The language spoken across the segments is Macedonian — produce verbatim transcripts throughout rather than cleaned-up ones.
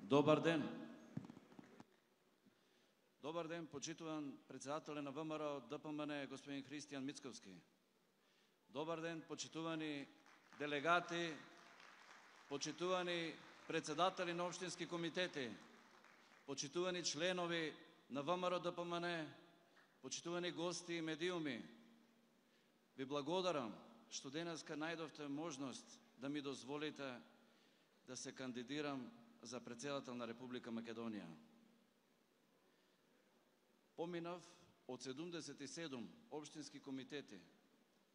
Добар ден. Добар ден, почитуван председателе на ВМРО ДПМН господин Христијан Мицковски. Добар ден, почитувани делегати, почитувани председатели на општински комитети, почитувани членови на ВМРО ДПМН, почитувани гости и медиуми. Ви благодарам што денеска најдовте можност да ми дозволите да се кандидирам за председател на Република Македонија. Поминав од седумдесет и седум општински комитети,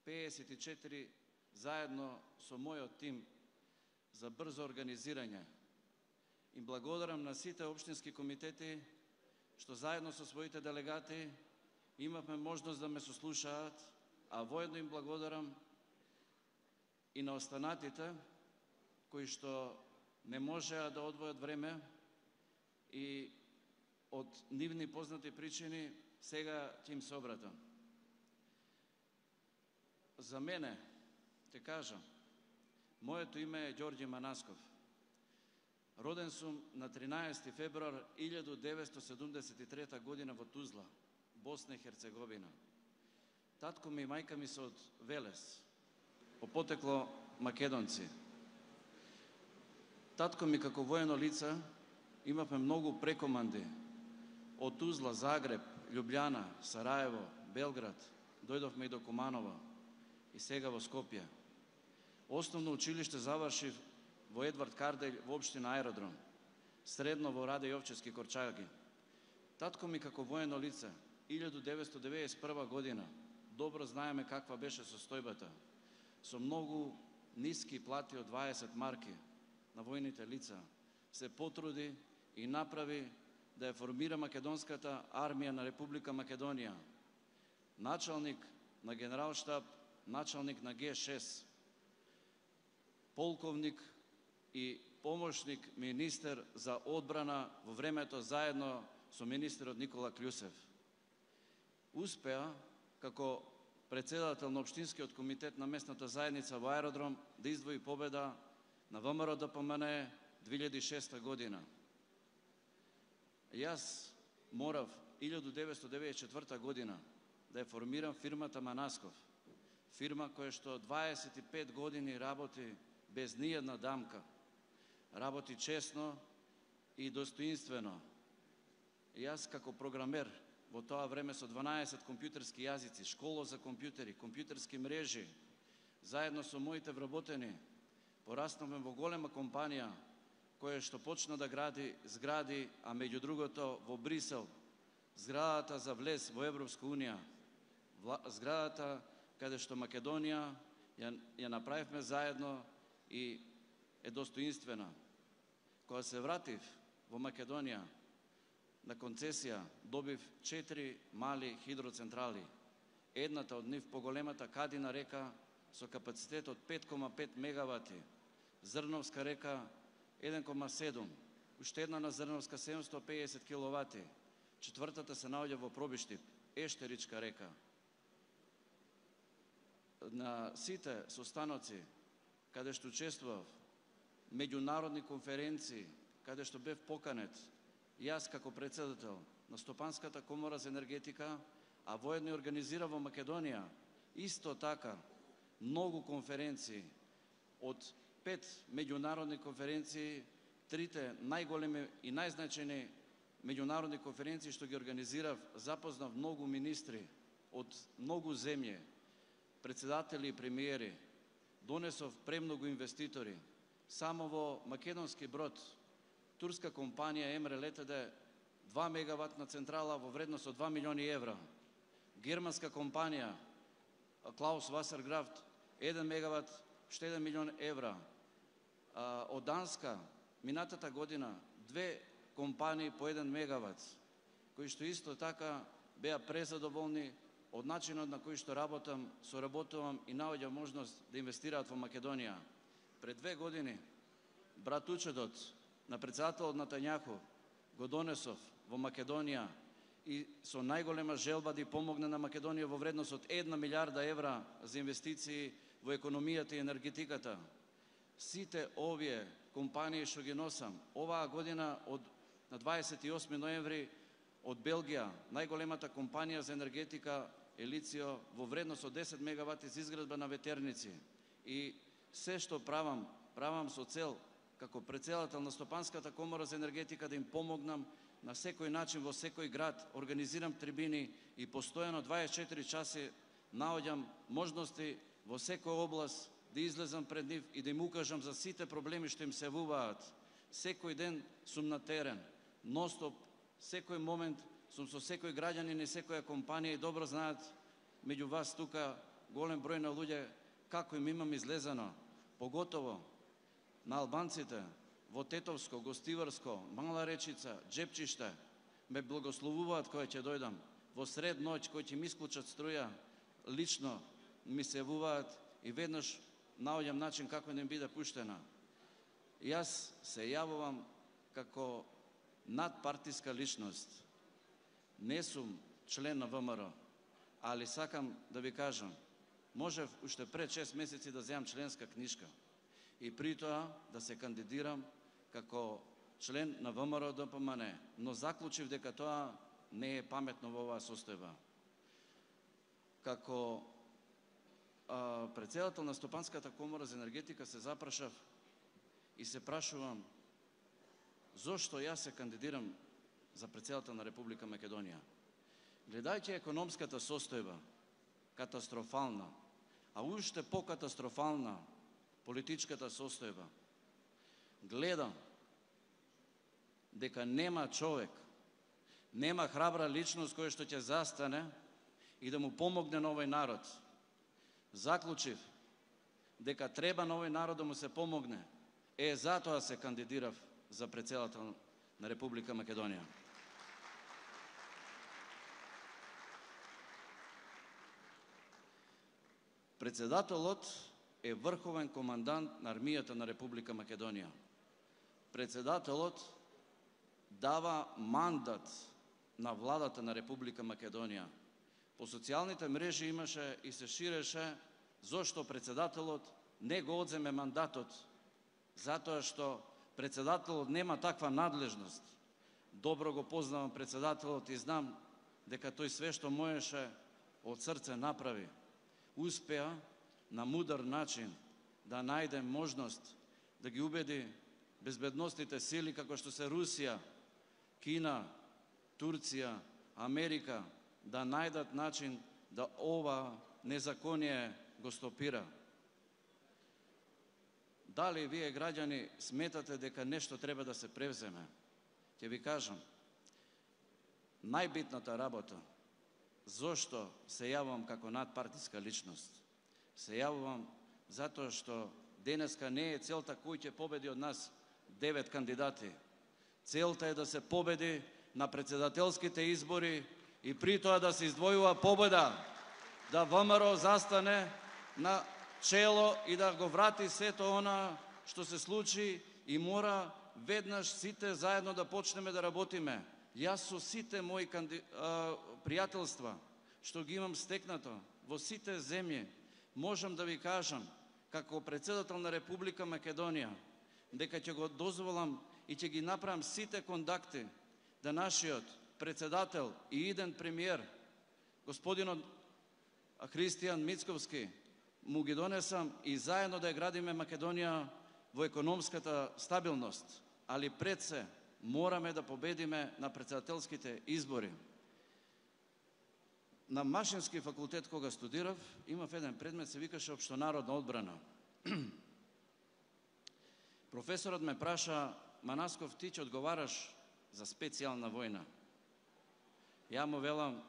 пеесет и четири заедно со мојот тим за брзо организирање. Им благодарам на сите општински комитети што заедно со своите делегати имавме можност да ме сослушаат, а воедно им благодарам и на останатите кои што не можеа да одвојат време и од нивни познати причини сега ќе им се обратам. За мене, те кажам, моето име е Ѓорѓе Манасков. Роден сум на тринаесети февруар илјадум деветстотини седумдесет и трета година во Тузла, Босна и Херцеговина. Татко ми и мајка ми се од Велес, по потекло македонци. Татко ми како воено лице имавме многу прекоманди. Од Тузла, Загреб, Љубљана, Сараево, Белград, дојдовме и до Куманово и сега во Скопје. Основно училиште завршив во Едвард Карделј во општина Аеродром, средно во Раде Јовчевски Корчаги. Татко ми како воено лице илјадум деветстотини деветдесет и прва година, добро знаеме каква беше состојбата, со многу ниски плати од дваесет марки на војните лица, се потруди и направи да ја формира македонската армија на Република Македонија. Началник на генералштаб, началник на Ге шест, полковник и помошник министер за одбрана во времето заедно со министерот Никола Кљусев. Успеа како председател на општинскиот комитет на местната заедница во Аеродром да издвои победа на ВМРО ДПМН две илјади и шеста година. Јас морав илјадум деветстотини деветдесет и четврта година да ја формирам фирмата Манасков, фирма која што дваесет и пет години работи без ниједна дамка, работи честно и достоинствено. Јас како програмер во тоа време со дванаесет компјутерски јазици, школа за компјутери, компјутерски мрежи, заедно со моите вработени, пораснавме во голема компанија која што почна да гради згради, а меѓу другото во Брисел, зградата за влез во Европска унија, зградата каде што Македонија ја, ја направивме заедно и е достоинствена. Кога се вратив во Македонија, на концесија добив четири мали хидроцентрали. Едната од нив, поголемата Кадина река, со капацитет од пет кома пет мегавати, Зрновска река еден кома седум, уште една на Зрновска седумстотини и педесет киловати, четвртата се наоѓа во Пробиштип, Ештеричка река. На сите состаноци каде што учествував, меѓународни конференции, каде што бев поканет, јас како председател на Стопанската комора за енергетика, а воедно организира во Македонија, исто така многу конференции, од пет меѓународни конференции, трите најголеми и најзначајни меѓународни конференции што ги организирав, запознав многу министри од многу земји, председатели и премиери, донесов премногу инвеститори. Само во македонски брод, турска компанија Емре Летеде, два мегаватна централа во вредност од два милиони евра. Германска компанија Клаус Васерграфт, еден мегават, уште еден милион евра. Од Данска, минатата година, две компании по еден мегават, кои што исто така беа презадоволни од начинот на кој што работам, соработувам и наоѓам можност да инвестираат во Македонија. Пред две години, братучедот на председателот на Тањаху го донесов во Македонија и со најголема желба да помогне на Македонија во вредност од една милиарда евра за инвестиции во економијата и енергетиката. сите овие компании што ги носам, оваа година од на дваесет и осми ноември од Белгија, најголемата компанија за енергетика Елицио во вредност од десет мегавати за изградба на ветерници. И се што правам, правам со цел како претседател на Стопанската комора за енергетика да им помогнам на секој начин во секој град, организирам трибини и постојано дваесет и четири часи наоѓам можности во секоја област да излезам пред нив и да им укажам за сите проблеми што им се явуваат. Секој ден сум на терен, ностоп, секој момент сум со секој граѓанин и секоја компанија и добро знаат меѓу вас тука голем број на луѓе како им имам излезано, поготово на албанците во Тетовско, Гостиварско, Мала Речица, Джепчиште, ме благословуваат кога ќе дојдам. Во сред ноќ кој ќе ми исклучат струја, лично ми се јавуваат и веднаш наоѓам начин како да им биде пуштена. Јас се јавувам како надпартиска личност. Не сум член на ВМРО, али сакам да ви кажам, можев уште пред шест месеци да земам членска книжка и при тоа да се кандидирам како член на ВМРО Д П М Н, но заклучив дека тоа не е паметно во оваа состојба. Како а, претседател на Стопанската комора за енергетика се запрашав и се прашувам зошто јас се кандидирам за претседател на Република Македонија. Гледајќи економската состојба, катастрофална, а уште покатастрофална политичката состојба, гледам дека нема човек, нема храбра личност која што ќе застане и да му помогне на овој народ. Заклучив дека треба на овој народ да му се помогне. Е, затоа се кандидирав за претседател на Република Македонија. Председателот е врховен командант на армијата на Република Македонија. Председателот дава мандат на владата на Република Македонија. По социјалните мрежи имаше и се ширеше зошто председателот не го одземе мандатот, затоа што председателот нема таква надлежност. Добро го познавам председателот и знам дека тој све што можеше од срце направи. Успеа на мудар начин да најде можност да ги убеди безбедностните сили како што се Русија, Кина, Турција, Америка да најдат начин да ова незаконие го стопира. Дали вие граѓани сметате дека нешто треба да се превземе? Ќе ви кажам, најбитната работа, зошто се јавувам како надпартиска личност? Се јавувам затоа што денеска не е целта кој ќе победи од нас девет кандидати. Целта е да се победи на председателските избори и при тоа да се издвојува победа, да ВМРО застане на чело и да го врати сето она што се случи и мора веднаш сите заедно да почнеме да работиме. Јас со сите мои канди... а, пријателства што ги имам стекнато во сите земји, можам да ви кажам како претседател на Република Македонија дека ќе го дозволам и ќе ги направам сите контакти да нашиот председател и иден премиер господинот Христијан Мицковски му ги донесам и заедно да ја градиме Македонија во економската стабилност, али пред се мораме да победиме на председателските избори. На Машински факултет кога студирав, имав еден предмет се викаше општонародна одбрана. Професорот ме праша: Манасков, ти ќе одговараш за специјална војна. Ја му велам,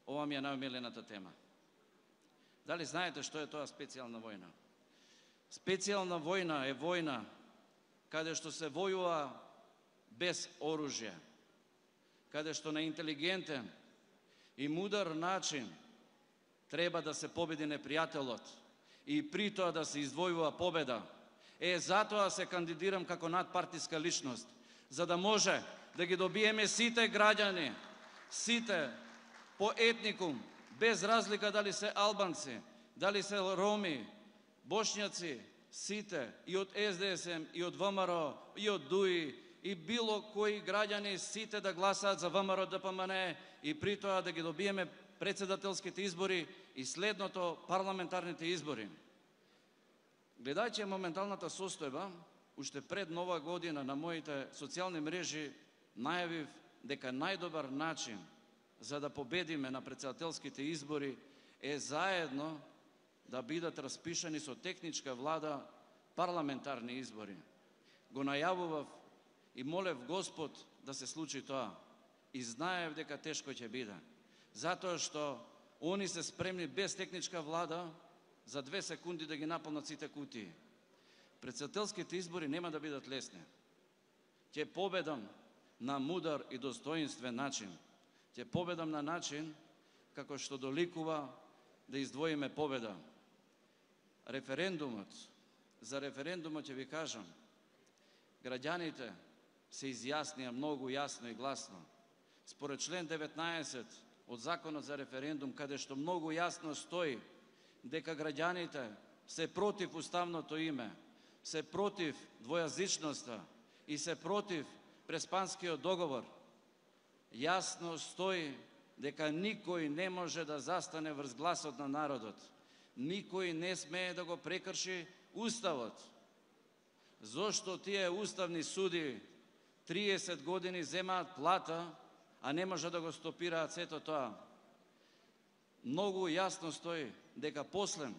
ова ми е најомилената тема. Дали знаете што е тоа специјална војна? Специјална војна е војна каде што се војува без оружје, каде што на интелигентен и мудар начин треба да се победи непријателот и при тоа да се издвојува победа. Е, затоа се кандидирам како надпартиска личност, за да може да ги добиеме сите граѓани, сите по етникум, без разлика дали се албанци, дали се роми, бошњаци, сите, и од С Д С М, и од В М Р, и од Д У И, и било кои граѓани, сите да гласаат за В М Р Д П М Н, и при тоа да ги добиеме председателските избори и следното парламентарните избори. Гледајќи моменталната состојба, уште пред нова година на моите социјални мрежи најавив дека најдобар начин за да победиме на председателските избори е заедно да бидат распишани со техничка влада парламентарни избори. Го најавував и молев Господ да се случи тоа. И знаев дека тешко ќе биде. Затоа што они се спремни без техничка влада за две секунди да ги наполнат сите кутии. Председателските избори нема да бидат лесни. Ќе победам на мудар и достоинствен начин. Ќе победам на начин како што доликува да издвоиме победа. Референдумот, за референдумот ќе ви кажам, граѓаните се изјаснија многу јасно и гласно. Според член деветнаесет од Законот за референдум, каде што многу јасно стои дека граѓаните се против уставното име, се против двојазичноста и се против Преспанскиот договор, јасно стои дека никој не може да застане врз гласот на народот. Никој не смее да го прекрши Уставот. Зошто тие уставни суди триесет години земаат плата, а не може да го стопираат сето тоа? Многу јасно стои дека после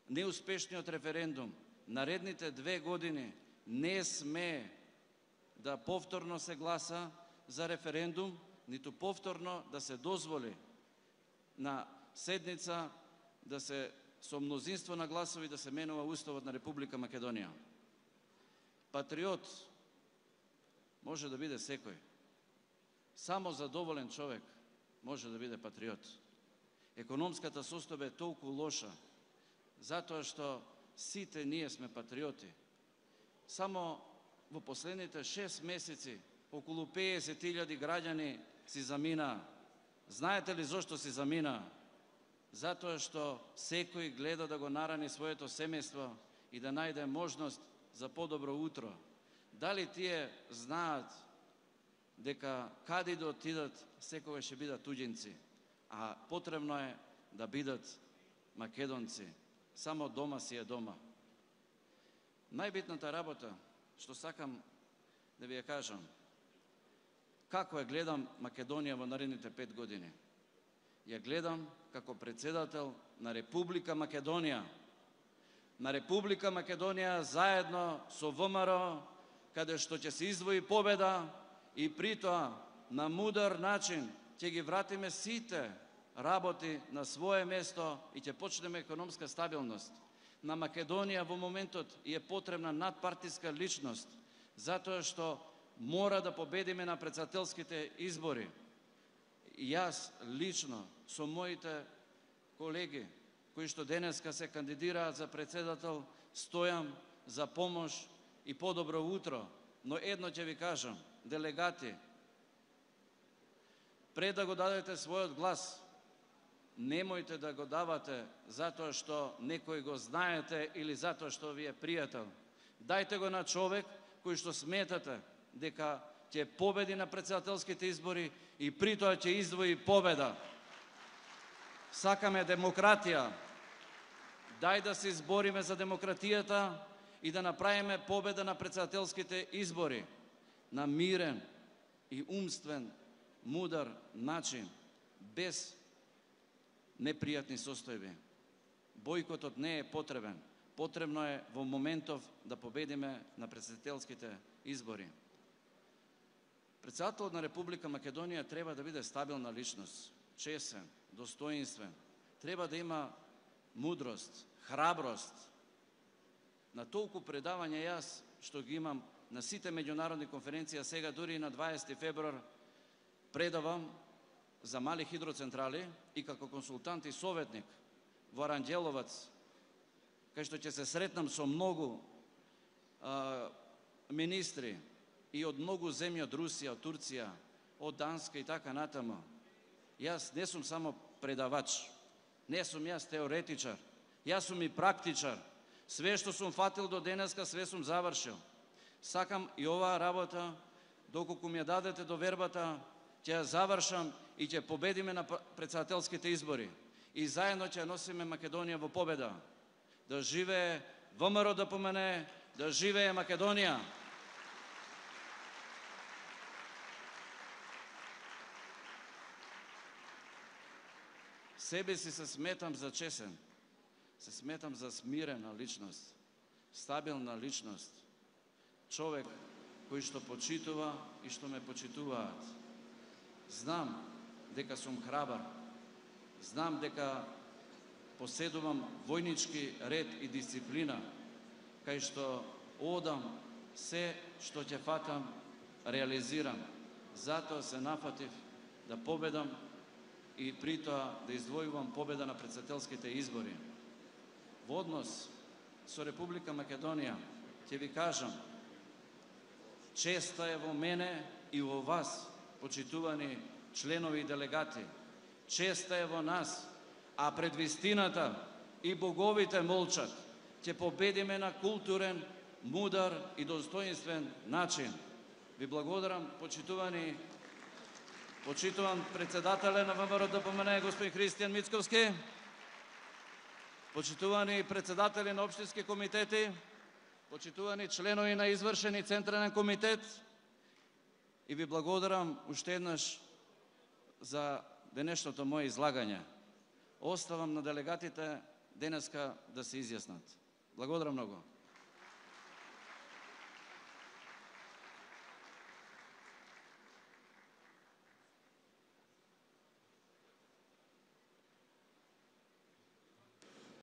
неуспешниот референдум наредните две години не смее да повторно се гласа за референдум, ниту повторно да се дозволи на седница да се со мнозинство на гласови да се менува Уставот на Република Македонија. Патриот може да биде секој. Само задоволен човек може да биде патриот. Економската состојба е толку лоша, затоа што сите ние сме патриоти. Само во последните шест месеци околу песет илјади граѓани си замина. Знаете ли зошто си замина? Затоа што секој гледа да го нарани своето семејство и да најде можност за подобро утро. Дали тие знаат дека каде да отидат, секогаш ќе бидат туѓинци, а потребно е да бидат македонци. Само дома си е дома. Најбитната работа што сакам да ви ја кажам, како ја гледам Македонија во наредните пет години. Ја гледам како председател на Република Македонија. На Република Македонија заедно со В М Р, каде што ќе се издвои победа и при тоа на мудар начин ќе ги вратиме сите работи на свое место и ќе почнеме економска стабилност. На Македонија во моментот е потребна надпартиска личност, затоа што мора да победиме на председателските избори. Јас лично со моите колеги кои што денеска се кандидираат за председател, стојам за помош и подобро утро. Но едно ќе ви кажам, делегати, пред да го дадете својот глас, немојте да го давате затоа што некој го знаете или затоа што ви е пријател. Дајте го на човек кој што сметате дека ќе победи на председателските избори и при тоа ќе издвои победа. Сакаме демократија. Дај да се избориме за демократијата и да направиме победа на председателските избори на мирен и умствен, мудар начин, без непријатни состојби. Бојкотот не е потребен. Потребно е во моментов да победиме на председателските избори. Председателот на Република Македонија треба да биде стабилна личност, чесен, достоинствен. Треба да има мудрост, храброст. На толку предавања јас што ги имам на сите меѓународни конференции, сега дури и на дваесети февруар предавам за мали хидроцентрали и како консултант и советник во Аранđеlovаc, кај што ќе се сретнам со многу а, министри и од многу земји, од Русија, од Турција, од Данска и така натаму. Јас не сум само предавач, не сум јас теоретичар, јас сум и практичар. Све што сум фатил до денеска, све сум завршил. Сакам и оваа работа, доколку ми ја дадете довербата, ќе ја завршам и ќе победиме на претседателските избори. И заедно ќе носиме Македонија во победа. Да живее ВМРО Д П М Н, да живее Македонија. Себе си се сметам за чесен, се сметам за смирена личност, стабилна личност, човек кој што почитува и што ме почитуваат. Знам дека сум храбар, знам дека поседувам војнички ред и дисциплина, кај што одам се што ќе фатам, реализирам. Затоа се нафатив да победам и при тоа да издвојувам победа на претседателските избори. Во однос со Република Македонија ќе ви кажам, честа е во мене и во вас, почитувани членови и делегати. Честа е во нас, а пред вистината и боговите молчат. Ќе победиме на културен, мудар и достоинствен начин. Ви благодарам, почитувани Почитуван председателе на ВМРО Д П М Н, господин Христијан Мицковски, почитувани председатели на општински комитети, почитувани членови на извршен и централен комитет, и ви благодарам уште еднаш за денешното моје излагање. Оставам на делегатите денеска да се изјаснат. Благодарам многу.